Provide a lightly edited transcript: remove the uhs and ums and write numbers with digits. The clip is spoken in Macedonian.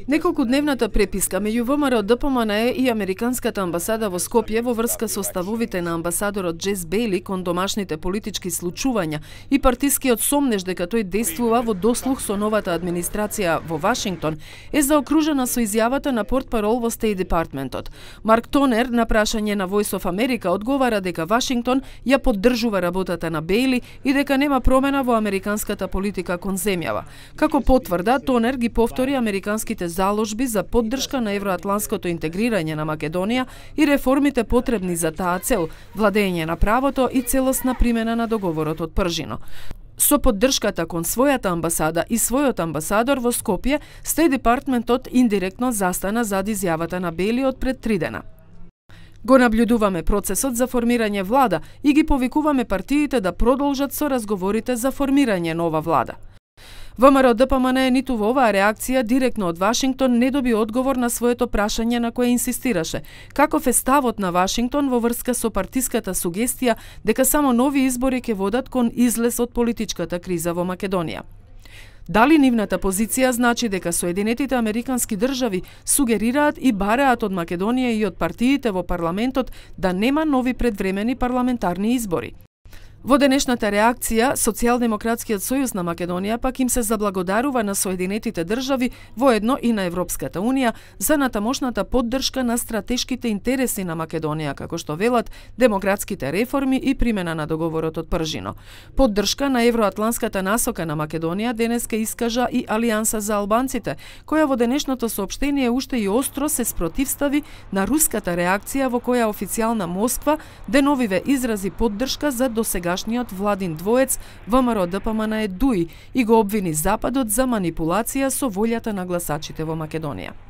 Неколкудневната преписка меѓу ВМРО ДПМН и Американската амбасада во Скопје во врска со ставовите на амбасадорот Джес Бејли кон домашните политички случувања и партискиот сомнеж дека тој действува во дослух со новата администрација во Вашингтон е заокружена со изјавата на портпарол во Стейт Департментот. Марк Тонер на прашање на Voice of America одговара дека Вашингтон ја поддржува работата на Бејли и дека нема промена во американската политика кон земјава. Како потврда, Тонер ги повтори американските заложби за поддршка на евроатланското интегрирање на Македонија и реформите потребни за таа цел, владење на правото и целосна примена на договорот од Пржино. Со поддршката кон својата амбасада и својот амбасадор во Скопје, Стейт Департментот индиректно застана зад изјавата на Бејли од пред 3 дена. Го наблюдуваме процесот за формирање влада и ги повикуваме партиите да продолжат со разговорите за формирање нова влада. ВМРО ДПМН ниту во оваа реакција директно од Вашингтон не доби одговор на своето прашање на кое инсистираше. Каков е ставот на Вашингтон во врска со партиската сугестија дека само нови избори ќе водат кон излез од политичката криза во Македонија? Дали нивната позиција значи дека Соединетите Американски држави сугерираат и бараат од Македонија и од партиите во парламентот да нема нови предвремени парламентарни избори? Во денешната реакција, Социјалдемократскиот сојуз на Македонија пак им се заблагодарува на Соединетите држави, воедно и на Европската унија, за натамошната поддршка на стратешките интереси на Македонија, како што велат демократските реформи и примена на договорот од Пржино. Поддршка на евроатланската насока на Македонија денеска искажа и Алијанса за албанците, која во денешното соопштение уште и остро се спротивстави на руската реакција во која официјална Москва деновиве изрази поддршка за досега владин двоец ВМРО ДПМН ДУИ и го обвини Западот за манипулација со волјата на гласачите во Македонија.